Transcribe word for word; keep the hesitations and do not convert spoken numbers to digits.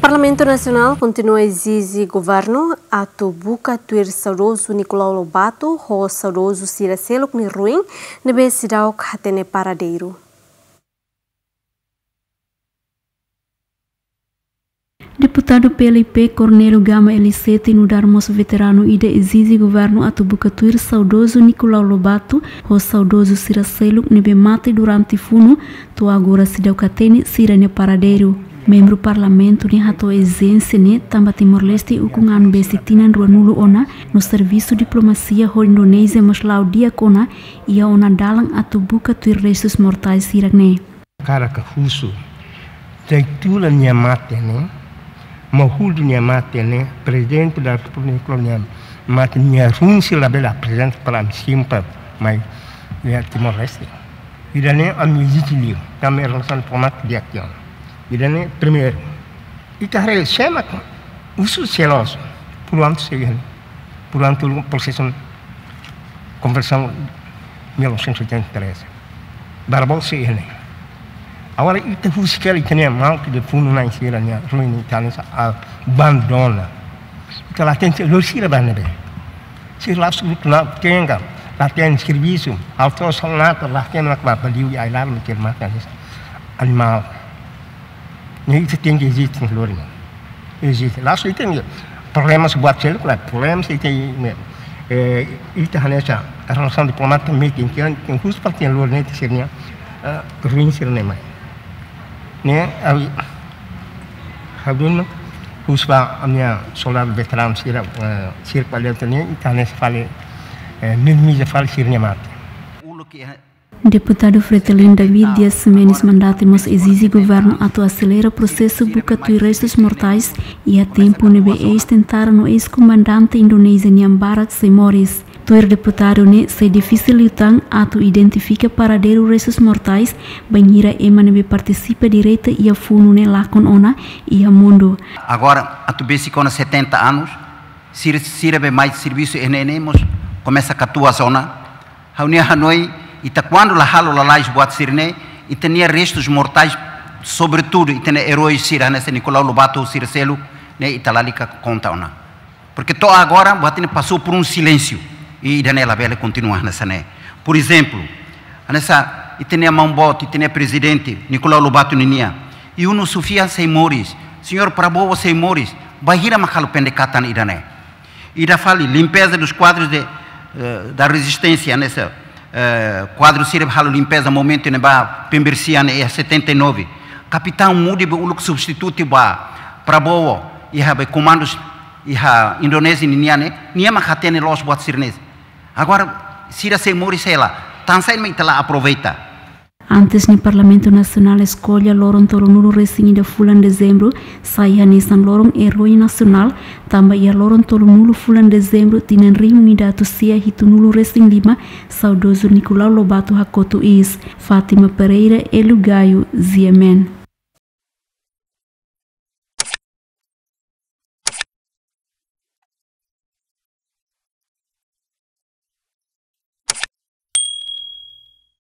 Parlamentu Nasionál kontinua ezije governu atu buka tuir saudozu Nicolau Lobato ho saudozu sira seluk nia ruin ne'ebé seidauk hatene paradeiru. Deputadu P L I P Cornélio Gama Elisete nu'udar mós veteranu ida ezije governu atu buka tuir saudozu Nicolau Lobato ho saudozu sira seluk ne'ebé mate durante funu, to'o agora seidauk hatene sira-nia paradeiru. Membru Parlamentu ne'e hato'o ezijénsia ne'e tanba Timor-Leste ukun anu besik tinan ruanulu ona, no servisu diplomasia ho Indonézia mós la'o di'ak ona, iha ona dalan atu buka tuir restus mortais sira-ne'e. Karik husu, Taitula nia mate ne'e, Mahudu nia mate ne'e, Prezidente da Repúblika nia mate, nia ruin sira labele aprezenta para ami simples mai iha Timor-Leste. Ida-ne'e ami ezije liu, ami relasaun diplomátika di'ak ona. Ida-ne'e primeiru. Ita haree sé mak husu seloso, por ántu sei iha ne'e, por ántu prosesu konversão mil novecentos e oitenta e três. Barbados sei iha ne'e. Agora ita husik hela ita-nia maluk de funu-na'in sira-nia ruin ita hanesan abandona. Ita la hatene lori sira ba ne'ebé. Sira la su lutu na tenga, la hatene servisu, auto salnata, la hatene mak ba baliu ya ilar me ker mata hanesan animál. Ne'e ita tenke ezije lori ne'e. Ezije. La'ós ita-nia problema sira buat seluk, klaru, problema sira ita-nia, eh, ita hanesan relasaun diplomátika meeting, tenke, tenke husu para tenke lori ne'e ita sira-nia, eh, ruin sira-ne'e mai. Ne'e, ami, ha'u husu ba ami-nia soldadu veteranu sira, eh, sira kualidade ne'e, ita hanesan fali, eh, minimiza fali sira-nia mate. Deputadu Fretilin David Dias Ximenes Mandate mós ezije governu atu aselera prosesu buka tuir restus mortais iha tempu ne'ebé eis-tentara no eis-komandante Indonézia nian barak sei moris. Tuir deputadu ne'e, sei difisil liután atu identifika paradeiru restus mortais bainhira ema ne'ebé partisipa direta iha funu ne'e lakon ona iha mundu. Agora, atu besik ona setenta anos, sira, sira be mai servisu iha ne'e ne'e mós komesa katuas ona. Ha'u-nia hanoin, ita kuandu la halo lalais buat sira-ne'e, ita-nia restus mortais, sobretudu ita-nia erói sira hanesan Nicolau Lobato, sira seluk ne'e ita lalika konta ona. Porque to'o agora buat ne'e pasou por um silêncio. I ida-ne'e labele kontinua hanesan ne'e. Por exemplo, hanesan ita-nia maun-boot, ita-nia prezidente Nicolau Lobato ninian, Yuno Sufyan sei moris, señór Prabowo sei moris, bainhira mak halo pendekatan ida-ne'e. Ida fali, limpeza dos quadros de, eh, da resistência, hanesan, eh, kuadru sira halo limpeza momentu ne'ebá Pembersihan iha setenta e nove. Kapitaun Mudi be uluk substitutu ba Prabowo iha be komandus iha Indonézia ninian ne'e, nia mak hatene loos buat sira-ne'e. Agora, sira sei moris hela, tansá mak ita la aproveita. Antes ne'e Parlamentu Nasionál eskolla loron tolunulu-resin-ida fulan Dezembru sai hanesan loron erói nasionál, tanba iha loron tolunulu fulan Dezembru tinan rihun ida atus sia hitunulu-resin-lima, saudozu Nicolau Lobato hakotu iis. Fátima Pereira, Elu Gayo, G M N.